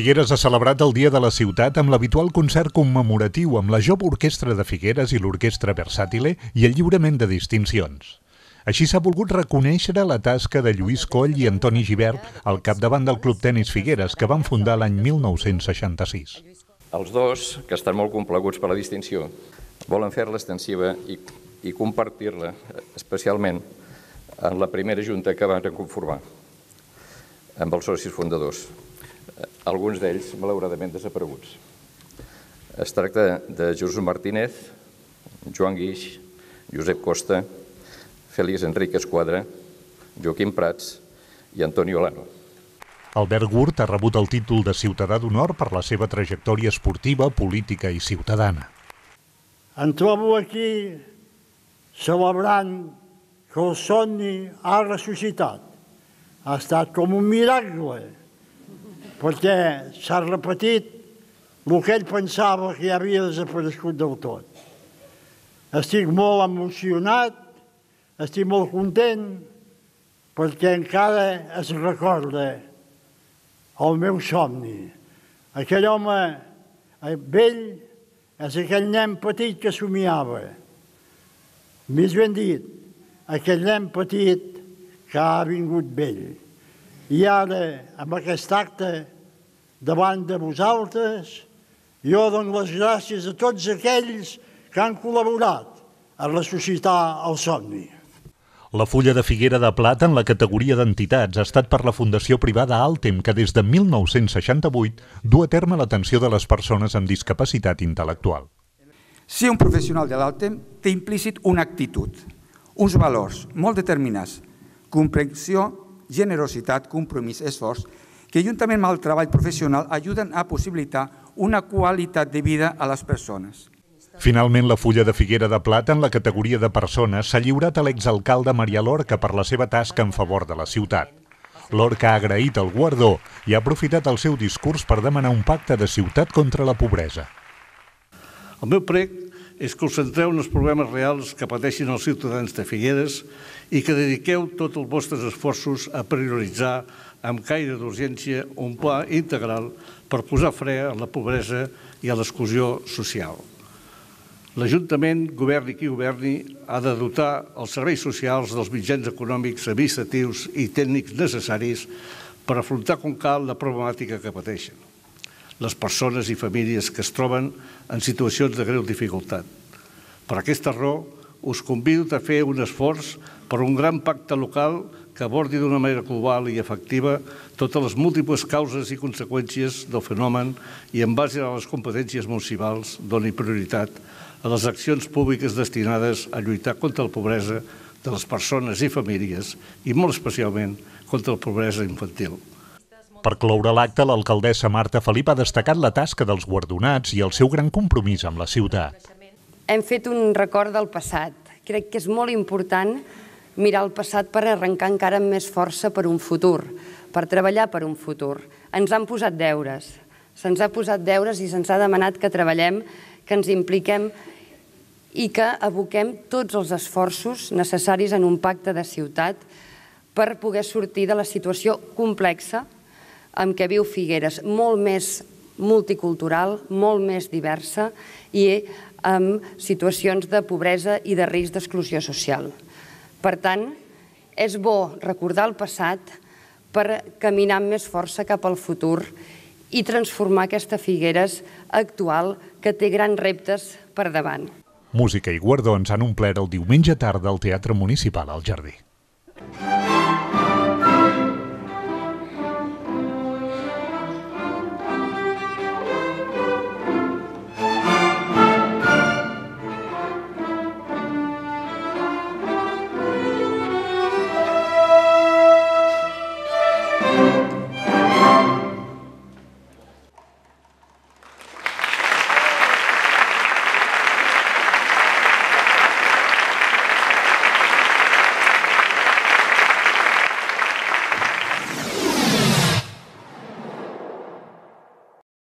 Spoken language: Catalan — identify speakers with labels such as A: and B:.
A: Figueres ha celebrat el Dia de la Ciutat amb l'habitual concert commemoratiu amb la Jove Orquestra de Figueres i l'Orquestra Versàtile i el lliurament de distincions. Així s'ha volgut reconèixer la tasca de Lluís Coll i Antoni Gibert al capdavant del Club Tenis Figueres, que van fundar l'any 1966.
B: Els dos, que estan molt complaguts per la distinció, volen fer-la extensiva i compartir-la especialment en la primera junta que van conformar amb els socis fundadors, alguns d'ells malauradament desapareguts. Es tracta de Jesús Martínez, Joan Guix, Josep Costa, Félix Enric Esquadra, Joaquim Prats i Antonio Olano.
A: Albert Gurt ha rebut el títol de ciutadà d'honor per la seva trajectòria esportiva, política i ciutadana.
C: Em trobo aquí celebrant que el somni ha ressuscitat. Ha estat com un miracle, perquè s'ha repetit el que ell pensava que ja havia desaparegut del tot. Estic molt emocionat, estic molt content, perquè encara es recorda el meu somni. Aquell home vell és aquell nen petit que somiava. Més ben dit, aquell nen petit que ha vingut vell. I ara, amb aquest acte, davant de vosaltres, jo dono les gràcies a tots aquells que han col·laborat a ressuscitar el somni.
A: La Fulla de Figuera de Plata en la categoria d'entitats ha estat per la Fundació Privada Altem, que des de 1968 du a terme l'atenció de les persones amb discapacitat intel·lectual.
D: Ser un professional de l'Altem té implícit una actitud, uns valors molt determinats, comprensió, generositat, compromís, esforç, que juntament amb el treball professional ajuden a possibilitar una qualitat de vida a les persones.
A: Finalment, la Fulla de Figuera de Plata en la categoria de persones s'ha lliurat a l'exalcalde Marià Lorca per la seva tasca en favor de la ciutat. Lorca ha agraït el guardó i ha aprofitat el seu discurs per demanar un pacte de ciutat contra la pobresa.
E: El meu prec és que us centreu en els problemes reals que pateixin els ciutadans de Figueres i que dediqueu tots els vostres esforços a prioritzar amb caire d'urgència un pla integral per posar fre a la pobresa i a l'exclusió social. L'Ajuntament, governi qui governi, ha de dotar els serveis socials dels mitjans econòmics, administratius i tècnics necessaris per afrontar com cal la problemàtica que pateixen les persones i famílies que es troben en situacions de greu dificultat. Per aquesta raó, us convido a fer un esforç per un gran pacte local que abordi d'una manera global i efectiva totes les múltiples causes i conseqüències del fenomen i en base a les competències municipals doni prioritat a les accions públiques destinades a lluitar contra la pobresa de les persones i famílies i molt especialment contra la pobresa infantil.
A: Per cloure l'acte, l'alcaldessa Marta Felip ha destacat la tasca dels guardonats i el seu gran compromís amb la ciutat.
F: Hem fet un record del passat. Crec que és molt important mirar el passat per arrencar encara amb més força per un futur, per treballar per un futur. Ens han posat deures. Se'ns ha posat deures i se'ns ha demanat que treballem, que ens impliquem i que aboquem tots els esforços necessaris en un pacte de ciutat per poder sortir de la situació complexa amb què viu Figueres, molt més multicultural, molt més diversa i amb situacions de pobresa i de risc d'exclusió social. Per tant, és bo recordar el passat per caminar amb més força cap al futur i transformar aquesta Figueres actual que té grans reptes per davant.
A: Música i guardons han omplert el diumenge tarda al Teatre Municipal al Jardí.